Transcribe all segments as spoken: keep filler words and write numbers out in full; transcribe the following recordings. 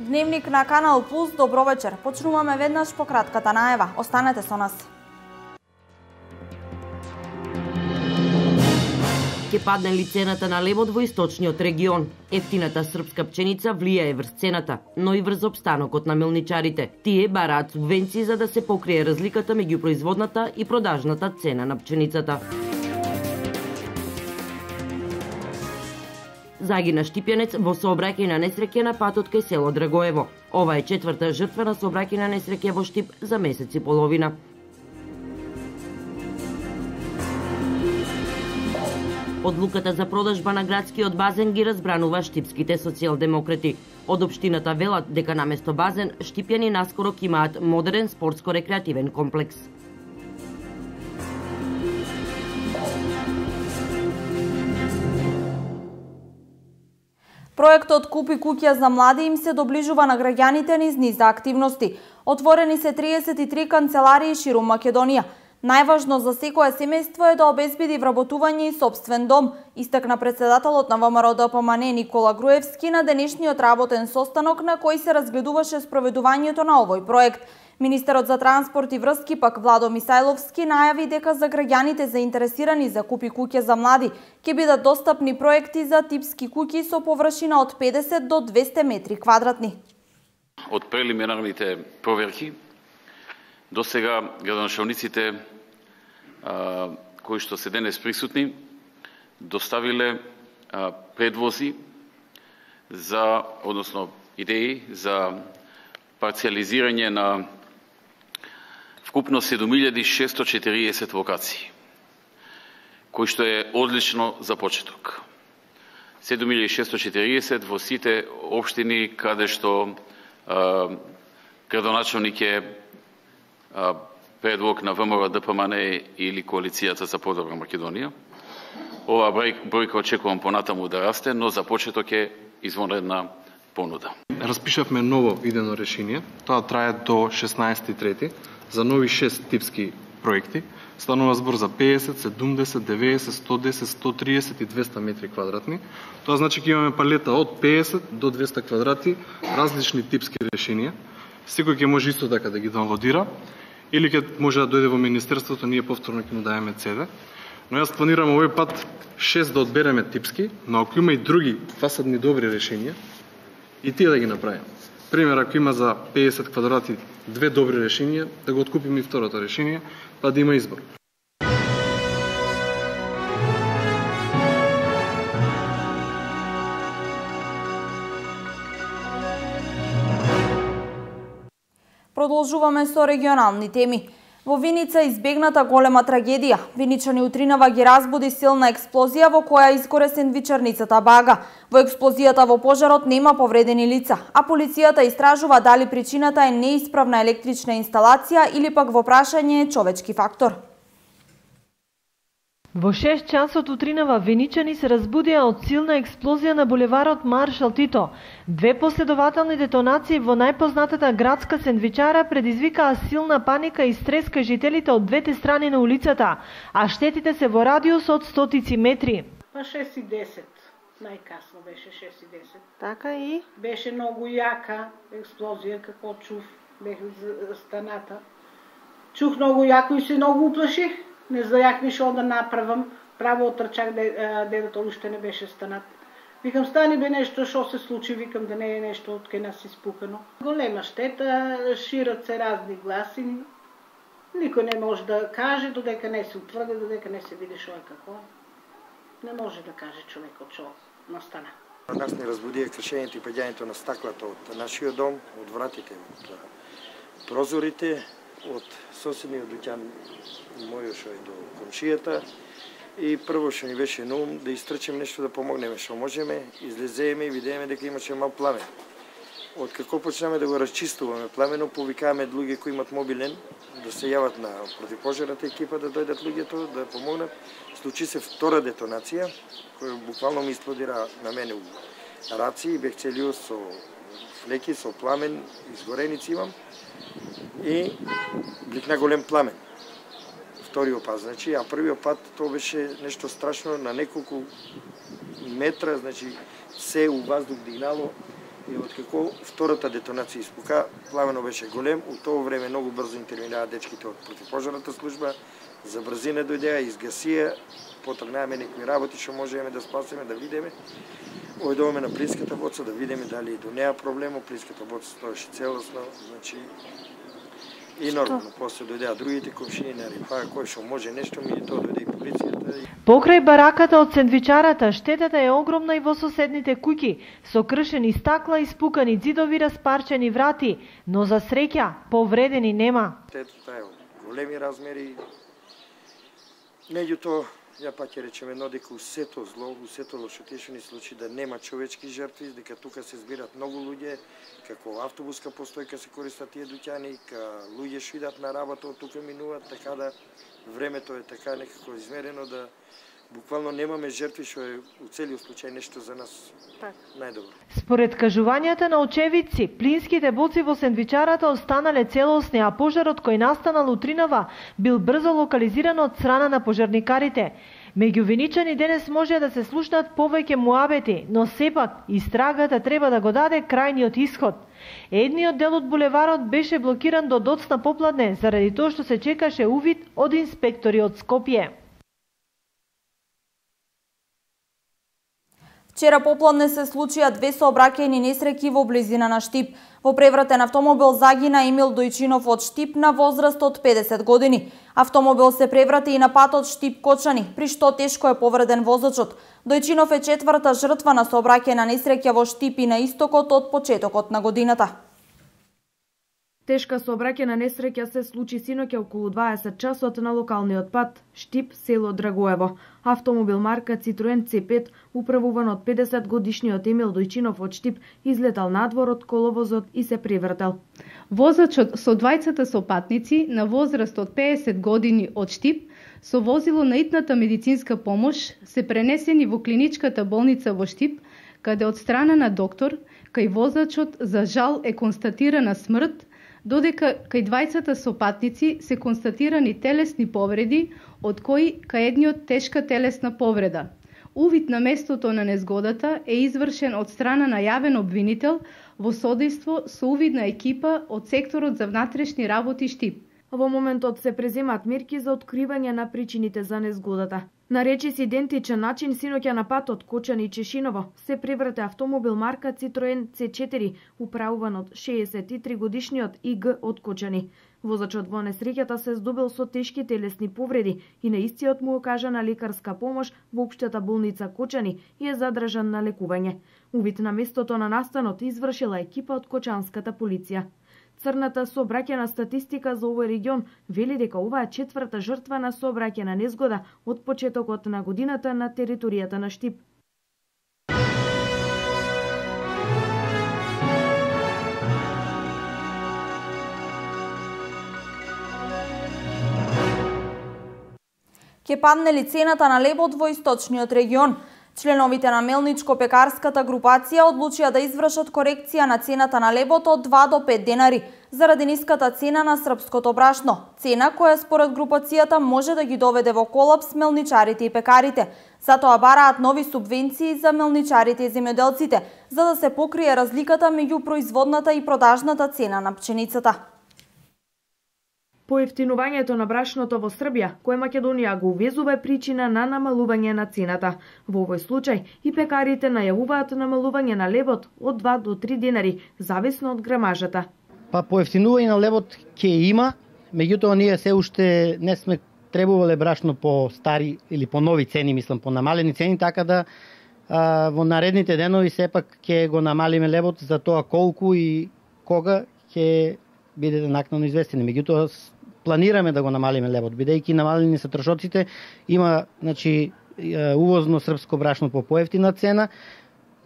Дневник на Канал Плюс, добро вечер. Почнуваме веднаш по кратката најава. Останете со нас. Ке падне ли цената на лебот во источниот регион? Ефтината српска пченица влијае врз цената, но и врз опстанокот на мелничарите. Тие бараат субвенции за да се покрие разликата меѓу производната и продажната цена на пченицата. Загина штипјанец во сообраќајна несреќа на патот кај село Драгоево. Ова е четврта жртва на сообраќајна несреќа во Штип за месец и половина. Одлуката за продажба на градскиот базен ги разбранува штипските социјалдемократи. Од општината велат дека наместо базен, штипјани наскоро ќе имаат модерен спортско-рекреативен комплекс. Проектот Купи куќа за млади им се доближува на граѓаните низ низ активности. Отворени се триесет и три канцеларии ширум Македонија. Најважно за секое семејство е да обезбеди вработување и сопствен дом, истакна председателот на ВМРО Д П М Н Никола Груевски на денешниот работен состанок на кој се разгледуваше спроведувањето на овој проект. Министерот за транспорт и врски пак Владо Мисајловски најави дека за граѓаните заинтересирани за Купи куќа за млади ќе бидат достапни проекти за типски куќи со површина од педесет до двесте метри квадратни. Од прелиминарните проверки до сега градоначалниците а, кои што се денес присутни доставиле а, предвози за, односно идеи за парциализирање на вкупно седум илјади шесто четириесет локации, кој што е одлично за почеток. седум илјади шесто четириесет во сите општини каде што а, градоначалник е а, предлог на ВМРО Д П М Н или Коалицијата за подобра Македонија. Ова бројка очекувам понатаму да расте, но за почеток е извонредна понуда. Распишавме ново идено решение, тоа трае до шеснаесети трети за нови шест типски проекти. Станува збор за педесет, седумдесет, деветдесет, сто десет, сто триесет и двесте метри квадратни. Тоа значи ќе имаме палета од педесет до двесте квадрати различни типски решенија. Секој ќе може исто така да ги доwnloadира или ќе може да дојде во министерството, ние повторно ќе му дајаме Це Де. Но јас планирам овој пат шест да одбереме типски, но ако има и други фасадни добри решенија, и тие да ги направиме. Пример, ако има за педесет квадрати две добри решенија, да го откупиме и второто решение, па да има избор. Продолжуваме со регионални теми. Во Виница избегната голема трагедија. Виничани утринава ги разбуди силна експлозија во која изгоре сендвичарницата Бага. Во експлозијата во пожарот нема повредени лица, а полицијата истражува дали причината е неисправна електрична инсталација или пак во прашање е човечки фактор. Во шест часот утринава виничани се разбудија од силна експлозија на булеварот Маршал Тито. Две последователни детонации во најпознатата градска сендвичара предизвикаа силна паника и стрес кај жителите од двете страни на улицата, а штетите се во радиус од стотици метри. Па шест и десет, најкасно беше шест и десет. Така и? Беше многу јака експлозија, како чув, бех станата. Чух многу јако и се многу уплаших. Не знаех ни што да направам, право отрчак, дедото уште не беше станат. Викам, стани бе нешто, што се случи, викам да не е нешто од кај нас испукано. Голема штета, шират се разни гласи, никој не може да каже, додека не се утврди, додека не се види што е како. Не може да каже човекот што настана. Нас не разбудија кршењето и паѓањето на стаклата од нашиот дом, од вратите, од прозорите, од соседниот дуќан мојот што е до комшијата, и прво што ни беше на ум да истрчем нешто да помогнеме што можеме, излеземе и видееме дека имаше мал пламен. Од како почнеме да го расчистуваме пламенот, повикаваме луѓе кои имат мобилен да се јават на противпожарната екипа, да дојдат луѓето да помогнат. Случи се втора детонација, која буквално ми експлодира на мене у раци и бех целиот со флеки, со пламен, изгореници имам. И бликна голем пламен. Вториот пат, значи, а првиот пат тоа беше нешто страшно, на неколку метра, значи се у воздух дигнало И откако втората детонација испука, пламенот беше голем, у тоа време многу брзо интервенираа дечките од противпожарната служба, за брзина дојдеа, изгасија, потргнаваме некои работи што можеме да спасиме, да видиме. Ојдоваме на плинската боца да видиме дали до неа проблемо, плинската боца стоеше целосно, значи и нормално, после дојдеа другите комшини на Рипа, кој што може нешто, ми тоа дојде и полицијата. Покрај бараката од сендвичарата, штетата е огромна и во соседните куќи, со кршени стакла, испукани ѕидови, распарчени врати, но за среќа повредени нема. Штетата е од големи размери. Меѓутоа, ја пак ќе речеме едно дека усето зло, усето лошо што ни случи да нема човечки жртви, дека тука се збират многу луѓе, како автобуска постојка се користат тие дуќани, ка луѓе што идат на работа од тука минуваат, така да времето е така некако измерено да буквално немаме жртви, што е у целиот случај нешто за нас так најдобро. Според кажувањата на очевидци, плинските боци во сендвичарата останале целосни, а пожарот кој настанал утринава бил брзо локализиран од страна на пожарникарите. Меѓу виничани денес може да се слушнат повеќе муабети, но сепак истрагата треба да го даде крајниот исход. Едниот дел од булеварот беше блокиран до доцна попладне заради тоа што се чекаше увид од инспектори од Скопје. Вчера попладне се случија две сообраќајни несреќи во близина на Штип. Во превратен автомобил загина Емил Дојчинов од Штип на возраст од педесет години. Автомобил се преврати и на патот Штип-Кочани, при што тешко е повреден возачот. Дојчинов е четврта жртва на сообраќајна несреќа во Штип и на истокот од почетокот на годината. Тешка сообраќајна несреќа се случи синоќа околу дваесет часот на локалниот пат Штип, село Драгоево. Автомобил марка Citroen Це пет, управуван од педесет годишниот Емил Дојчинов од Штип, излетал надвор од коловозот и се превртел. Возачот со двајцата сопатници на возраст од педесет години од Штип со возило на итната медицинска помош се пренесени во клиничката болница во Штип, каде од страна на доктор кај возачот за жал е констатирана смрт, додека кај двајцата сопатници се констатирани телесни повреди, од кои кај едниот тешка телесна повреда. Увид на местото на незгодата е извршен од страна на јавен обвинител во содејство со увидна екипа од секторот за внатрешни работи Штип. Во моментот се преземаат мерки за откривање на причините за незгодата. На речис идентичен начин синоќа на патот Кочани и Чешиново се преврте автомобил марка Citroen Це четири, управуван од шеесет и три годишниот И Г од Кочани. Возачот во несреќата се здобил со тешки телесни повреди и на истиот му окажана лекарска помош во општата болница Кочани и е задржан на лекување. Увид на местото на настанот извршила екипа од кочанската полиција. Црната сообраќајна статистика за овој регион вели дека ова е четврта жртва на сообраќајна незгода од почетокот на годината на територијата на Штип. Ке падне ли цената на лебот во источниот регион? Членовите на Мелничко-пекарската групација одлучија да извршат корекција на цената на лебот од два до пет денари, заради ниската цена на српското брашно. Цена која според групацијата може да ги доведе во колапс мелничарите и пекарите. Затоа бараат нови субвенции за мелничарите и земјоделците, за да се покрие разликата меѓу производната и продажната цена на пченицата. Поевтинувањето на брашното во Србија, кое Македонија го увезува, е причина на намалување на цената. Во овој случај и пекарите најавуваат намалување на лебот од два до три денари, зависно од грамажата. Па поевтинување на лебот ќе има, меѓутоа ние се уште не сме требувале брашно по стари или по нови цени, мислам, по намалени цени, така да а, во наредните денови сепак ќе го намалиме лебот, за тоа колку и кога ќе бидете накнадно известени. Меѓутоа планираме да го намалиме лебот, бидејќи намалени се трошоците, има, значи, увозно српско брашно по поевтина цена.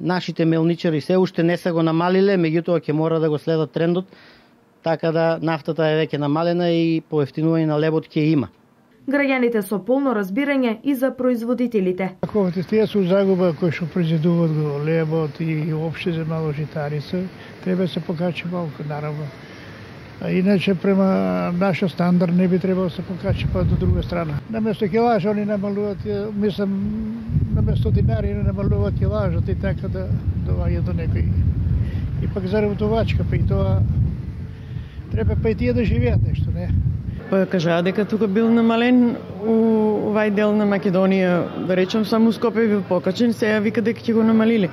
Нашите мелничари се уште не се го намалиле, меѓутоа ќе мора да го следат трендот, така да нафтата е веќе намалена и поевтинување на лебот ќе има. Граѓаните со полно разбирање и за производителите. Таковите тие се загуба кои што произведуваат го лебот и опште за мало житарица, треба се покачи малку, наравно. А иначе према нашиот стандард не би требало да се покачи па до друга страна. Наместо килажа они намалуваат, мислам, наместо динари они намалуваат килажот и така да доваѓа до некои И пак заработувачка, па и тоа треба па и тие да живеат нешто, не? Па кажаа дека тука бил намален у овај дел на Македонија, да речем само Скопје бил покачен, сега вика дека ќе го намалили.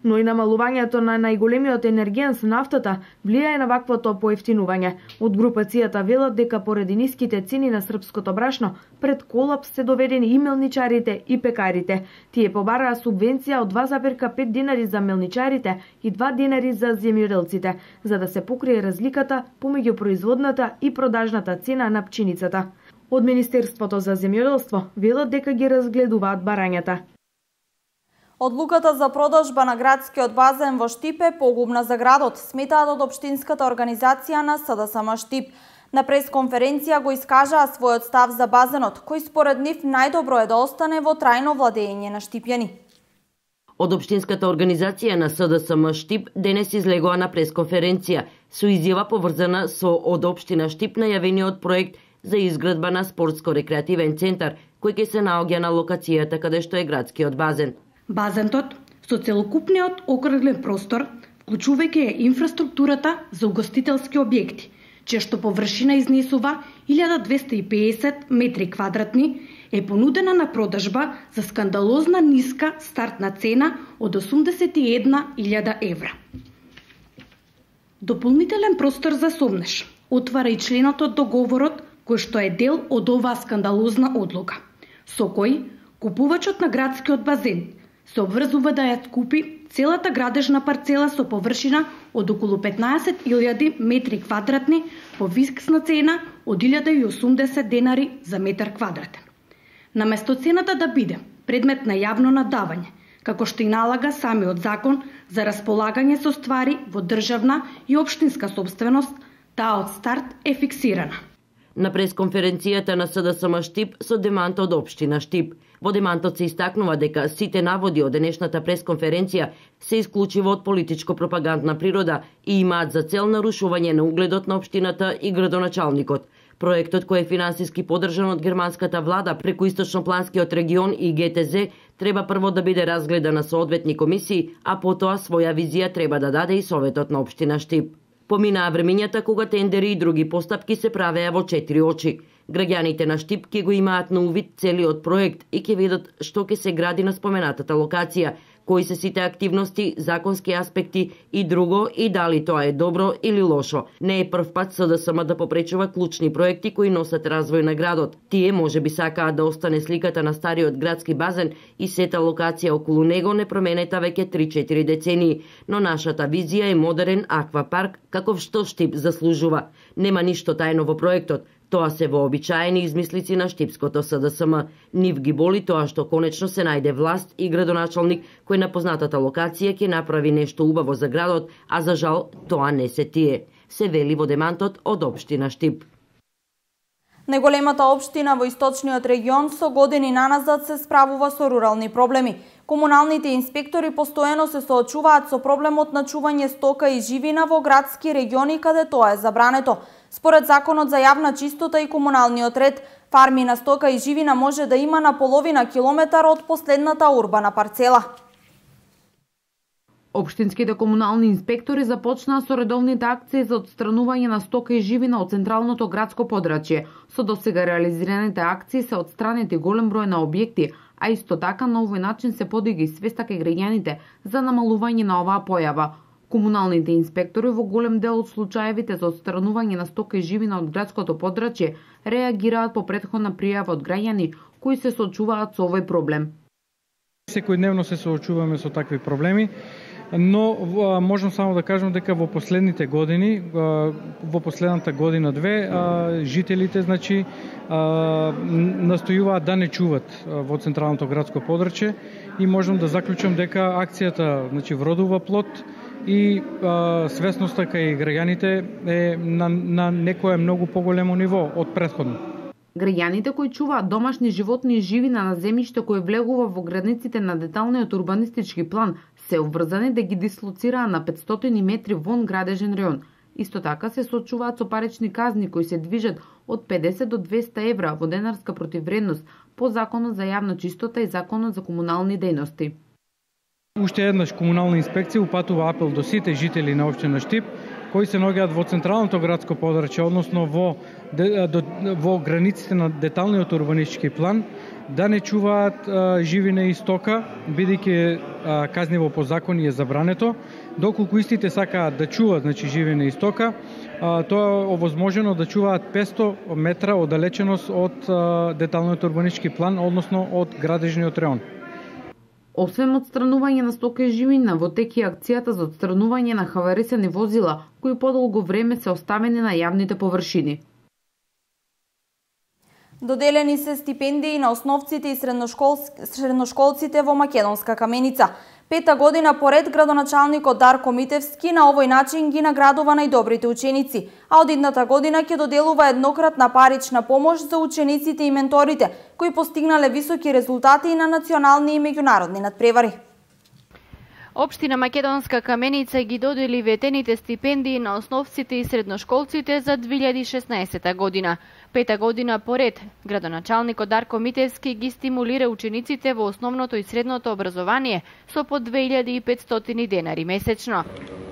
Но и намалувањето на најголемиот енергијан со нафтата влијае на ваквото поевтинување. Од групацијата велат дека поради ниските цени на српското брашно, пред колапс се доведени и мелничарите и пекарите. Тие побараа субвенција од два зарез пет динари за мелничарите и два динари за земјоделците, за да се покрие разликата помеѓу производната и продажната цена на пченицата. Од Министерството за земјоделство велат дека ги разгледуваат барањата. Одлуката за продажба на градскиот базен во Штип е погубна за градот, сметаат од општинската организација на СДСМ Штип. На пресконференција го искажаа својот став за базенот, кој според нив најдобро е да остане во трајно владење на штипјани. Од општинската организација на СДСМ Штип денес излегоа на пресконференција со изјава поврзана со од општина Штип најавениот проект за изградба на спортско-рекреативен центар, кој ќе се наоѓа на локацијата каде што е градскиот базен. Базентот со целокупниот окрглен простор, вклучувајќи ја инфраструктурата за угостителски објекти, чија што површина изнесува илјада двесте и педесет метри квадратни, е понудена на продажба за скандалозна ниска стартна цена од осумдесет и една илјада евра. Дополнителен простор за сомнеш отвара и членот од договорот кој што е дел од оваа скандалозна одлука, со кој купувачот на градскиот базен се обврзува да ја купи целата градежна парцела со површина од околу петнаесет илјади метри квадратни по фиксна цена од илјада и осумдесет денари за метар квадратен. Наместо цената да биде предмет на јавно надавање, како што и налага самиот закон за располагање со ствари во државна и општинска собственост, таа од старт е фиксирана. На пресконференцијата на СДСМ Штип со демант од општина Штип. Во демантот се истакнува дека сите наводи од денешната пресконференција се исклучиво од политичко-пропагандна природа и имаат за цел нарушување на угледот на општината и градоначалникот. Проектот, кој е финансиски поддржан од германската влада преку Источнопланскиот регион и Г Т З, треба прво да биде разгледан на соодветни комисии, а потоа своја визија треба да даде и Советот на општина Штип. Поминаа времењата кога тендери и други постапки се правеа во четири очи. Граѓаните на Штип ќе го имаат на увид целиот проект и ќе видат што ќе се гради на споменатата локација, кои се сите активности, законски аспекти и друго и дали тоа е добро или лошо. Не е прв пат СДСМ да попречува клучни проекти кои носат развој на градот. Тие можеби сакаат да остане сликата на стариот градски базен и сета локација околу него не променета веќе три-четири децении, но нашата визија е модерен аквапарк каков што Штип заслужува. Нема ништо тајно во проектот. Тоа се вообичаени измислици на штипското СДСМ. Нив ги боли тоа што конечно се најде власт и градоначалник кој на познатата локација ќе направи нешто убаво за градот, а за жал тоа не се тие. Се вели во демантот од општина Штип. Најголемата општина во источниот регион со години наназад се справува со рурални проблеми. Комуналните инспектори постојано се соочуваат со проблемот на чување стока и живина во градски региони каде тоа е забрането. Според Законот за јавна чистота и комуналниот ред, фарми на стока и живина може да има на половина километар од последната урбана парцела. Општинските комунални инспектори започнаа со редовните акции за отстранување на стока и живина од централното градско подрачје. Со досега реализираните акции се отстранети голем број на објекти, а исто така на овој начин се подига и свеста кај граѓаните за намалување на оваа појава. Комуналните инспектори во голем дел од случаевите за отстранување на стока и живина од градското подрачје реагираат по претходна пријава од граѓани кои се соочуваат со овој проблем. Секојдневно се соочуваме со такви проблеми, но можам само да кажам дека во последните години, во последната година две, жителите значи настојуваат да не чуват во централното градско подрачје и можам да заклучам дека акцијата значи вродува плод и а, свесноста кај граѓаните е на, на некое многу поголемо ниво од претходно. Граѓаните кои чуваат домашни животни и живина на земјиште кој влегува во границите на деталниот урбанистички план се обврзани да ги дислоцираа на петстотини метри вон градежен реон. Исто така се соочуваат со парични казни кои се движат од педесет до двесте евра во денарска противвредност по Законот за јавна чистота и Законот за комунални дејности. уште еднаш комунална инспекција упатува апел до сите жители на општина Штип кои се наоѓаат во централното градско подрачје, односно во во границите на деталниот урбанистички план, да не чуваат а, живина и стока, бидејќи казниво по закон е забрането. Доколку истите сакаат да чуваат, значи живина и стока, а, тоа е овозможено да чуваат петсто метра оддалеченост од а, деталниот урбанистички план, односно од градежниот реон. Освен отстранување на стока и живина, во тек е акцијата за отстранување на хаварисани возила, кои подолго време се оставени на јавните површини. Доделени се стипендии на основците и средношколците во Македонска Каменица. Пета година поред градоначалникот Дарко Митевски на овој начин ги наградува најдобрите ученици, а од идната година ќе доделува еднократна парична помош за учениците и менторите, кои постигнале високи резултати на национални и меѓународни надпревари. Општина Македонска Каменица ги додели ветените стипендии на основците и средношколците за две илјади и шеснаесета година. Пета година поред, градоначалникот Дарко Митевски ги стимулира учениците во основното и средното образование со по две илјади и петстотини денари месечно.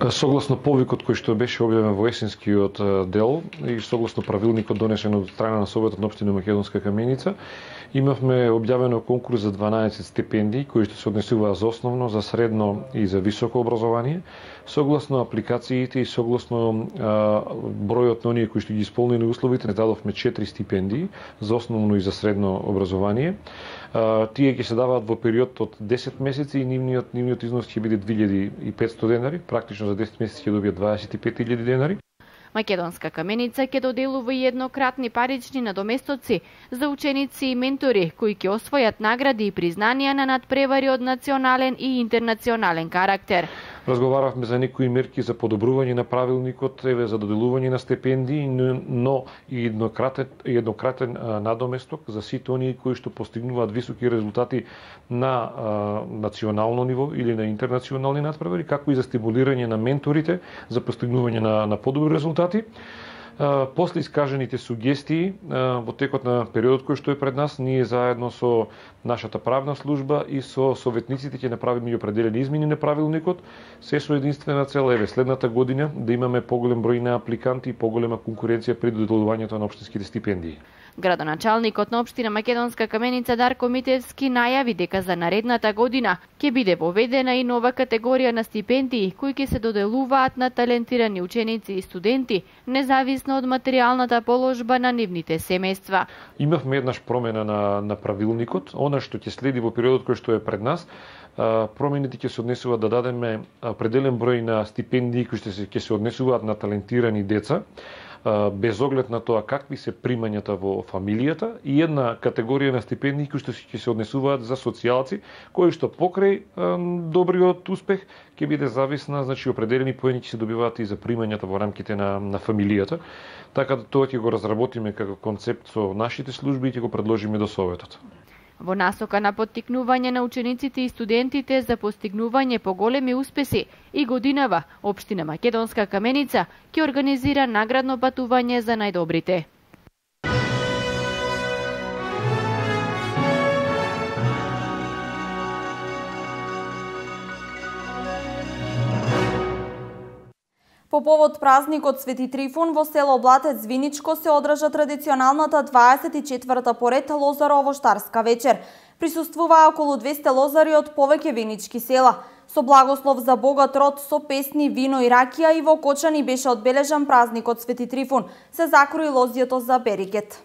Согласно повикот кој што беше објавен во есенскиот дел и согласно правилникот донесен од страна на Советот на општина Македонска Каменица, имавме објавено конкурс за дванаесет стипендии кои што се однесуваат за основно, за средно и за високо образование. Согласно апликациите и согласно а, бројот на оние кои што ги исполнени условите, не дадовме четири стипендии за основно и за средно образование. А, тие ќе се даваат во период од десет месеци и нивниот нивниот износ ќе биде две илјади и петсто денари, практично за десет месеци ќе добијат дваесет и пет илјади денари. Македонска Каменица ќе доделува и еднократни парични надоместоци за ученици и ментори кои ќе освојат награди и признанија на надпревари од национален и интернационален карактер. Разговаравме за некои мерки за подобрување на правилникот, еве за доделување на стипендии, но и еднократен, еднократен а, надоместок за сите оние кои што постигнуваат високи резултати на а, национално ниво или на интернационални надпревари, како и за стимулирање на менторите за постигнување на, на подобри резултати. Uh, после искажените сугестии uh, во текот на периодот кој што е пред нас, ние заедно со нашата правна служба и со советниците ќе направиме определени измени на правилникот, се со единствена цел еве следната година да имаме поголем број на апликанти и поголема конкуренција при доделувањето на општинските стипендии. Градоначалникот на општина Македонска Каменица Дарко Митевски најави дека за наредната година ќе биде воведена и нова категорија на стипендии кои ќе се доделуваат на талентирани ученици и студенти, независно од материјалната положба на нивните семејства. Имавме еднаш промена на, на правилникот, она што ќе следи во периодот кој што е пред нас. Промените ќе се однесуваат да дадеме определен број на стипендии кои што се ќе се однесуваат на талентирани деца, без оглед на тоа какви се примањата во фамилијата, и една категорија на стипендии кои што ќе се однесуваат за социјалци, кои што покрај добриот успех ќе биде зависна, значи определени поени ќе се добиваат и за примањата во рамките на, на фамилијата. Така да тоа ќе го разработиме како концепт со нашите служби и ќе го предложиме до Советот. Во насока на поттикнување на учениците и студентите за постигнување поголеми успеси, и годинава општина Македонска Каменица ќе организира наградно патување за најдобрите. По повод празникот Свети Трифун во село Блатец Виничко се одржа традиционалната дваесет и четврта поред Лозаро-овоштарска вечер. Присуствуваа околу двесте лозари од повеќе винички села. Со благослов за богат род, со песни, вино и ракија и во Кочани беше одбележан празникот Свети Трифун. Се закрои лозјето за Беригет.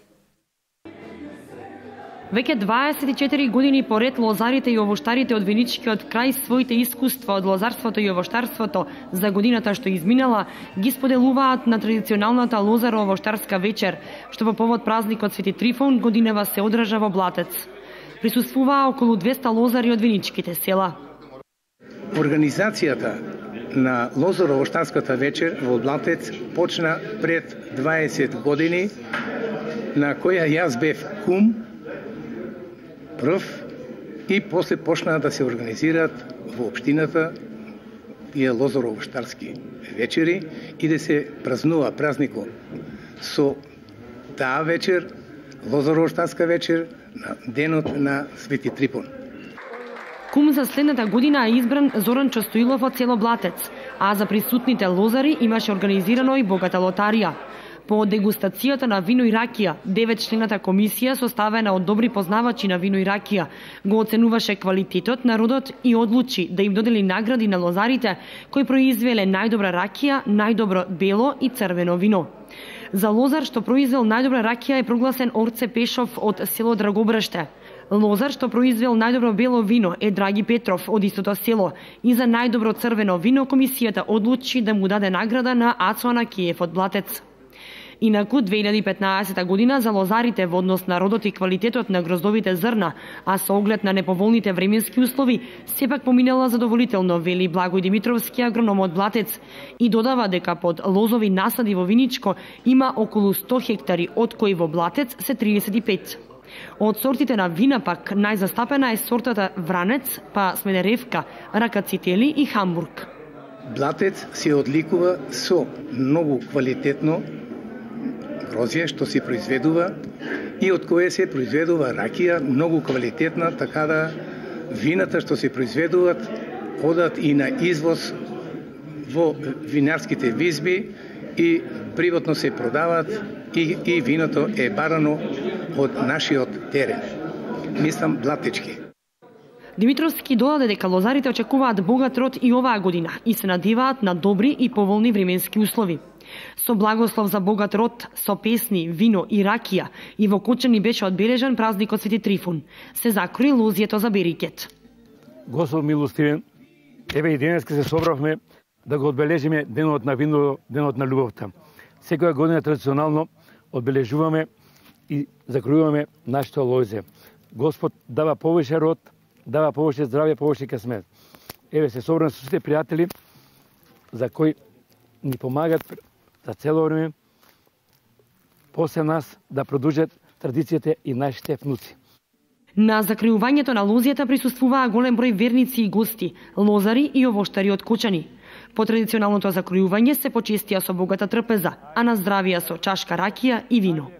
Веќе дваесет и четири години поред лозарите и овоштарите од Виничкиот крај своите искуства од лозарството и овоштарството за годината што изминала ги споделуваат на традиционалната Лозаро-овоштарска вечер, што по повод празникот Свети Трифун годинава се одржа во Блатец. Присуствуваа околу двесте лозари од виничките села. Организацијата на Лозаро-овоштарската вечер во Блатец почна пред дваесет години, на која јас бев кум прв, и после почнаа да се организираат во општината тие Лозаро-овоштарски вечери и да се празнува празникот со таа вечер, Лозаро-овоштарска вечер, на денот на Свети Трифун. Кум за следната година е избран Зоран Чостоилов од село Блатец, а за присутните лозари имаше организирано и богата лотарија. По дегустацијата на вино и ракија, деветчлената комисија составена од добри познавачи на вино и ракија го оценуваше квалитетот на родот и одлучи да им додели награди на лозарите кои произвеле најдобра ракија, најдобро бело и црвено вино. За лозар што произвел најдобра ракија е прогласен Орце Пешов од село Драгобрште. Лозар што произвел најдобро бело вино е Драги Петров од истото село и за најдобро црвено вино комисијата одлучи да му даде награда на Ацо Анакиев од Блатец. Инаку две илјади и петнаесета година за лозарите во однос на родот и квалитетот на гроздовите зрна, а со оглед на неповолните временски услови, сепак поминала задоволително, вели Благој Димитровски, агроном од Блатец, и додава дека под лозови насади во Виничко има околу сто хектари, од кои во Блатец се триесет и пет. Од сортите на вина пак најзастапена е сортата Вранец, па Смедеревка, Ракацители и Хамбург. Блатец се одликува со многу квалитетно грозје што се произведува и од кое се произведува ракија многу квалитетна, така да вината што се произведуваат одат и на извоз во винарските визби и приватно се продаваат и, и виното е барано од нашиот терен. Мислам Блатечки. Димитровски додаде дека лозарите очекуваат богат род и оваа година и се надеваат на добри и поволни временски услови. Со благослов за богат род, со песни, вино и ракија и во Кочани беше одбележан празникот Свети Трифун. Се закрои лозјето за Берикет. Господ милостивен, еве и денеска се собравме да го одбележиме денот на вино, денот на љубовта. Секоја година традиционално одбележуваме и закројуваме нашето лозје. Господ дава повеќе род, дава повеќе здравје, повеќе късмет. Еве се собраме со сите пријатели за кои ни помагат за цело време после нас да продолжат традицијите и нашите внуци. На закриувањето на лозјата присуствуваа голем број верници и гости, лозари и овоштари од Кочани. По традиционалното закриување се почестија со богата трпеза, а на здравија со чашка ракија и вино.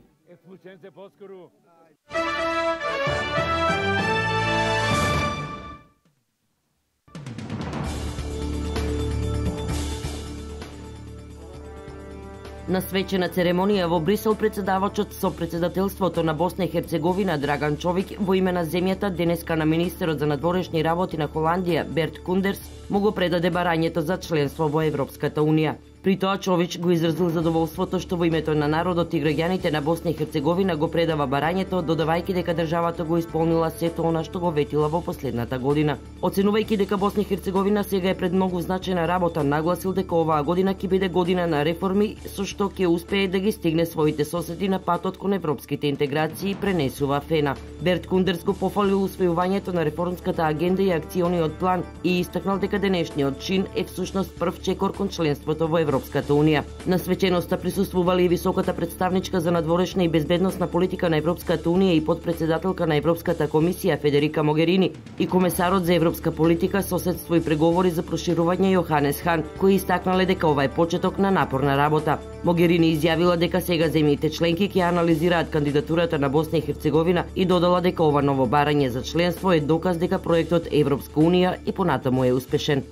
На свечена церемонија во Брисел председавачот со председателството на Босна и Херцеговина Драган Човик во име на земјата денеска на министерот за надворешни работи на Холандија Берт Кундерс му го предаде барањето за членство во Европската унија. При тоа Чович го изразил задоволството што во името на народот и граѓаните на Босна и Херцеговина го предава барањето, додавајќи дека државата го исполнила сето она што го ветила во последната година. Оценувајќи дека Босна и Херцеговина сега е пред многу значајна работа, нагласил дека оваа година ќе биде година на реформи со што ќе успее да ги стигне своите соседи на патот кон европските интеграции, пренесува Фена. Берт Кундерс го пофалил усвојувањето на реформската агенда и акциониот план и истакнал дека денешниот чин е всушност прв чекор кон членството во Европската унија. На свеченоста присуствували и високата представничка за надворешна и безбедносна политика на Европската унија и подпредседателка на Европската комисија Федерика Могерини и комесарот за европска политика, соседство и преговори за проширување Јоханес Хан, кои истакнале дека ова е почеток на напорна работа. Могерини изјавила дека сега земјите членки ќе анализираат кандидатурата на Босна и Херцеговина и додала дека ова ново барање за членство е доказ дека проектот Европска унија и понатаму е успешен.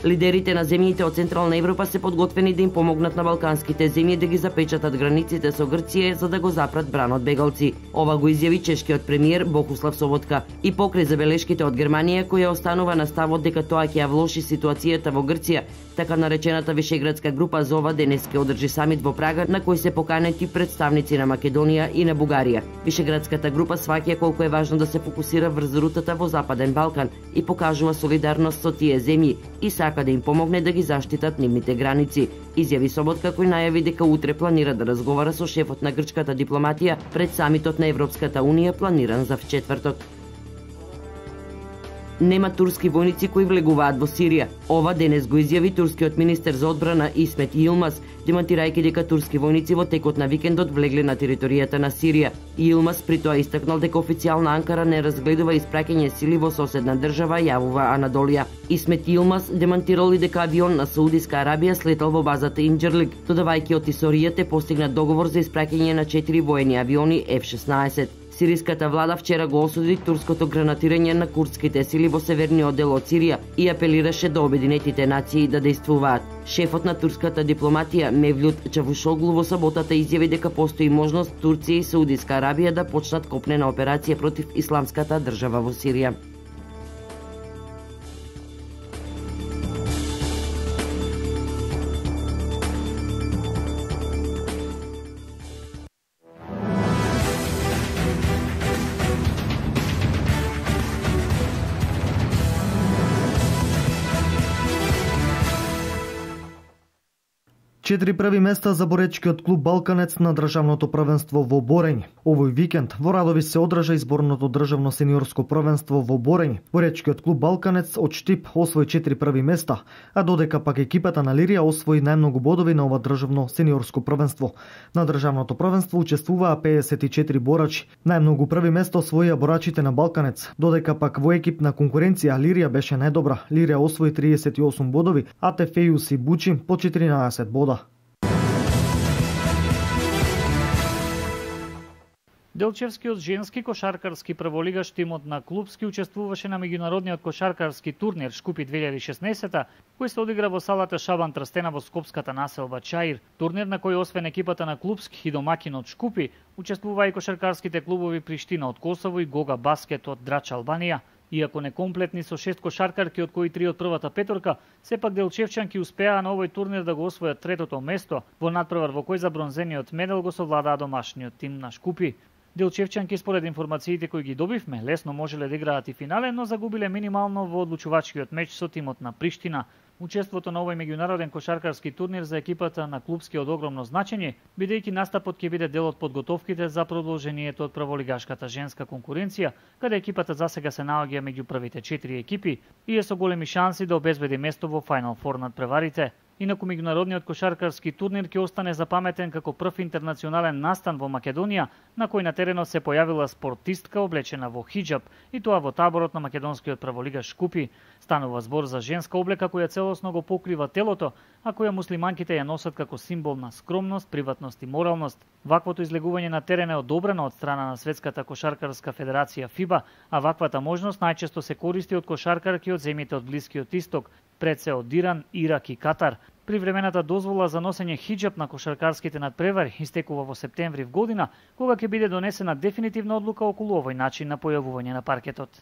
Лидерите на земјите од Централна Европа се подготвени да им помогнат на балканските земји да ги запечатат границите со Грција за да го запрат бранот бегалци. Ова го изјави чешкиот премиер Богуслав Соботка и покрај забелешките од Германија која останува на ставот дека тоа ќе ја влоши ситуацијата во Грција. Така наречената Вишеградска група за ова денес ќе одржи самит во Прага на кој се поканети представници на Македонија и на Бугарија. Вишеградската група сваќа колку е важно да се фокусира врз рутата во Западен Балкан и покажува солидарност со тие земји и сака да им помогне да ги заштитат нивните граници. Изјави Соботка кој најави дека утре планира да разговара со шефот на грчката дипломатија пред самитот на Европската унија планиран за вчетврток. Нема турски војници кои влегуваат во Сирија. Ова денес го изјави турскиот министер за одбрана Исмет Йилмаз, демантирајќи дека турски војници во текот на викендот влегле на територијата на Сирија. Йилмаз при тоа истакнал дека официјална Анкара не разгледува испраќање сили во соседна држава, јавува Анадолија. Исмет Йилмаз демантирал и дека авион на Саудиска Арабија слетал во базата Инџерлик, додавајќи од Исоријата е постигнат договор за испраќање на четири воени авиони Еф шеснаесет. Сириската влада вчера го осуди турското гранатирање на курдските сили во северниот дел од Сирија и апелираше до Обединетите нации да действуваат. Шефот на турската дипломатија Мевлют Чавушоглу во саботата изјави дека постои можност Турција и Саудиска Арабија да почнат копнена операција против исламската држава во Сирија. Четири први места за боречкиот клуб Балканец на државното првенство во борење. Овој викенд во Радовиш се одржа изборното државно сениорско првенство во борење. Боречкиот клуб Балканец од Штип освои четири први места, а додека пак екипата на Лирија освои најмногу бодови на ова државно сениорско првенство. На државното првенство учествуваа педесет и четири борачи. Најмногу први место освоија борачите на Балканец, додека пак во екипна конкуренција Лирија беше најдобра. Лирија освои триесет и осум бодови, а Тефејус и Бучи по четиринаесет бода. Делчевскиот женски кошаркарски прволигаш тимот на клубски учествуваше на меѓународниот кошаркарски турнир Шкупи две илјади и шеснаесета, кој се одигра во салата Шабан Трстена во скопската населба Чаир. Турнир на кој освен екипата на клубски и домакинот Шкупи, учествуваа и кошаркарските клубови Приштина од Косово и Гога Баскет од Драч Албанија. Иако некомплетни со шест кошаркарки, од кои три од првата петорка, сепак делчевчанки успеа на овој турнир да го освојат третото место во надпревар во кој за бронзениот медал го совладаа домашниот тим на Шкупи. Делчевчанки, според информациите кои ги добивме, лесно можеле да играат и финале, но загубиле минимално во одлучувачкиот меч со тимот на Приштина. Учеството на овој меѓународен кошаркарски турнир за екипата на клубски од огромно значење, бидејќи настапот ќе биде дел од подготовките за продолжението од прволигашката женска конкуренција, каде екипата засега се наоѓа меѓу првите четири екипи и е со големи шанси да обезбеди место во Final Four над преварите. Инаку меѓународниот кошаркарски турнир ќе остане запаметен како прв интернационален настан во Македонија, на кој на теренот се појавила спортистка облечена во хиџаб, и тоа во таборот на македонскиот прволигаш Шкупи. Станува збор за женска облека која целосно го покрива телото, а која муслиманките ја носат како символ на скромност, приватност и моралност. Ваквото излегување на терен е одобрено од страна на Светската кошаркарска федерација ФИБА, а ваквата можност најчесто се користи од кошаркарки од земјите од Блискиот Исток, пред се од Иран, Ирак и Катар. Привремената дозвола за носење хиџаб на кошаркарските надпревари истекува во септември в година, кога ќе биде донесена дефинитивна одлука околу овој начин на појавување на паркетот.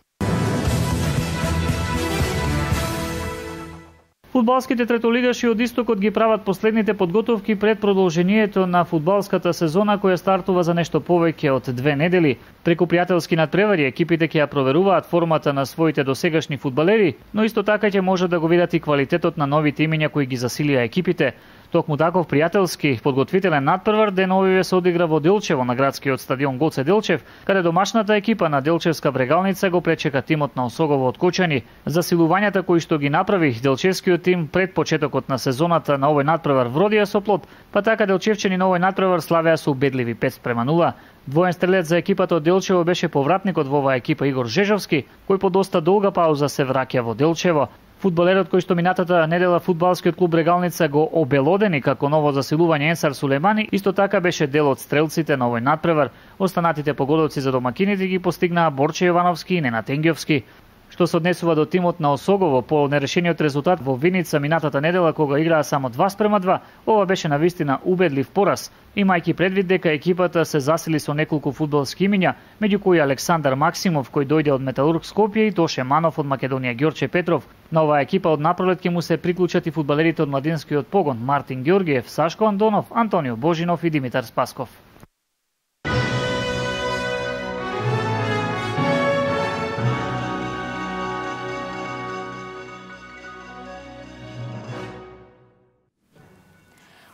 Фудбалските третолигаши од Истокот ги прават последните подготовки пред продолжението на фудбалската сезона која стартува за нешто повеќе од две недели. Преку пријателски надпревари екипите ќе ја проверуваат формата на своите досегашни фудбалери, но исто така ќе можат да го видат и квалитетот на новите имиња кои ги засилија екипите. Токму таков пријателски подготвителен надпревар деновиве се одигра во Делчево на градскиот стадион Гоце Делчев, каде домашната екипа на Делчевска Брегалница го пречека тимот на Осогово од Кочани. Засилувањата кои што ги направи Делчевскиот тим пред почетокот на сезоната на овој надпревар вродија со плод, па така делчевчани на овој надпревар славеа со убедливи пет спрема нула. Двоен стрелец за екипата од Делчево беше повратникот во оваа екипа Игор Жежовски, кој по доста долга пауза се враќа во Делчево. Фудбалерот кој што минатата недела фудбалскиот клуб Брегалница го обелодени како ново засилување Енсар Сулемани, исто така беше дел од стрелците на овој надпревар. Останатите погодовци за домакините ги постигнаа Борче Јовановски и Ненад Енгјовски. Што се однесува до тимот на Осогово по нерешениот резултат во Виница минатата недела кога играа само два спрема два, ова беше навистина убедлив пораз, имајќи предвид дека екипата се засили со неколку фудбалски имиња, меѓу кои Александар Максимов кој дојде од Металург Скопје и Тоше Манов од Македонија Ѓорче Петров. На оваа екипа од напролет ќе му се приклучат и фудбалерите од младинскиот погон Мартин Ѓоргиев, Сашко Андонов, Антонио Божинов и Димитар Спасков.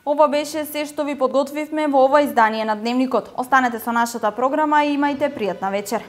Ова беше се што ви подготвивме во ова издание на Дневникот. Останете со нашата програма и имајте пријатна вечер.